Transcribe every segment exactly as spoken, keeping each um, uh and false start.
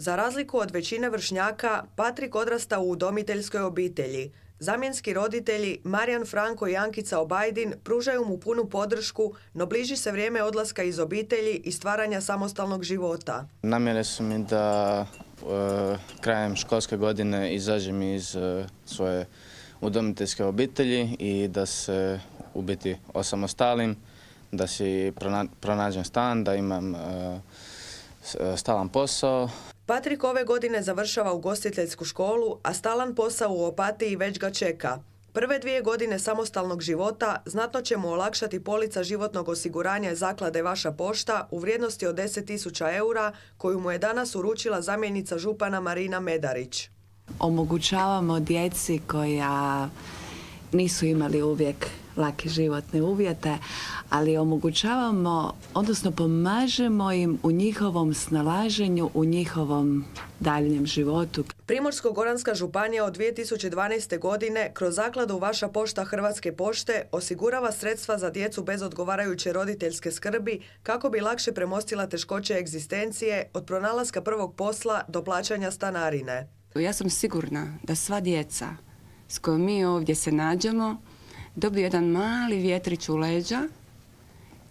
Za razliku od većine vršnjaka, Patrik odrasta u udomiteljskoj obitelji. Zamjenski roditelji Marijan, Franko i Ankica Obajdin pružaju mu punu podršku, no bliži se vrijeme odlaska iz obitelji i stvaranja samostalnog života. Namjere su mi da e, krajem školske godine izađem iz e, svoje udomiteljske obitelji i da se u biti osamostalim, da si pronađem stan, da imam e, stalan posao. Patrik ove godine završava ugostiteljsku školu, a stalan posao u Opatiji već ga čeka. Prve dvije godine samostalnog života znatno će mu olakšati polica životnog osiguranja Zaklade Vaša pošta u vrijednosti od deset tisuća eura koju mu je danas uručila zamjenica župana Marina Medarić. Omogućavamo djeci koja nisu imali uvijek lake životne uvjete, ali omogućavamo, odnosno pomažemo im u njihovom snalaženju, u njihovom daljnjem životu. Primorsko-goranska županija od dvije tisuće dvanaeste. godine kroz Zakladu Vaša pošta Hrvatske pošte osigurava sredstva za djecu bez odgovarajuće roditeljske skrbi kako bi lakše premostila teškoće egzistencije od pronalaska prvog posla do plaćanja stanarine. Ja sam sigurna da sva djeca s kojom mi ovdje se nađemo dobiju jedan mali vjetrić u leđa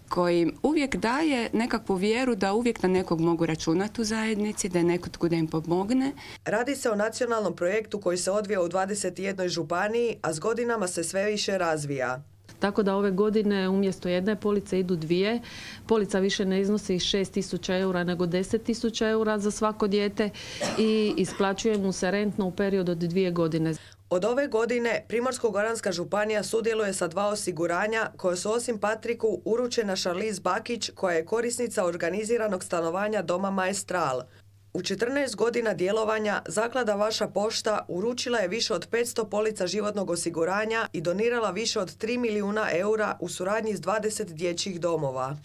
koji im uvijek daje nekakvu vjeru da uvijek na nekog mogu računati u zajednici, da je netko da im pomogne. Radi se o nacionalnom projektu koji se odvija u dvadeset jednoj županiji, a s godinama se sve više razvija. Tako da ove godine umjesto jedne police idu dvije. Polica više ne iznosi šest tisuća eura nego deset tisuća eura za svako dijete i isplaćuje mu se rentno u periodu od dvije godine. Od ove godine Primorsko-goranska županija sudjeluje sa dva osiguranja koje su osim Patriku uručena Šarliz Bakić koja je korisnica organiziranog stanovanja Doma Maestral. U četrnaest godina djelovanja Zaklada Vaša pošta uručila je više od petsto polica životnog osiguranja i donirala više od tri milijuna eura u suradnji s dvadeset dječjih domova.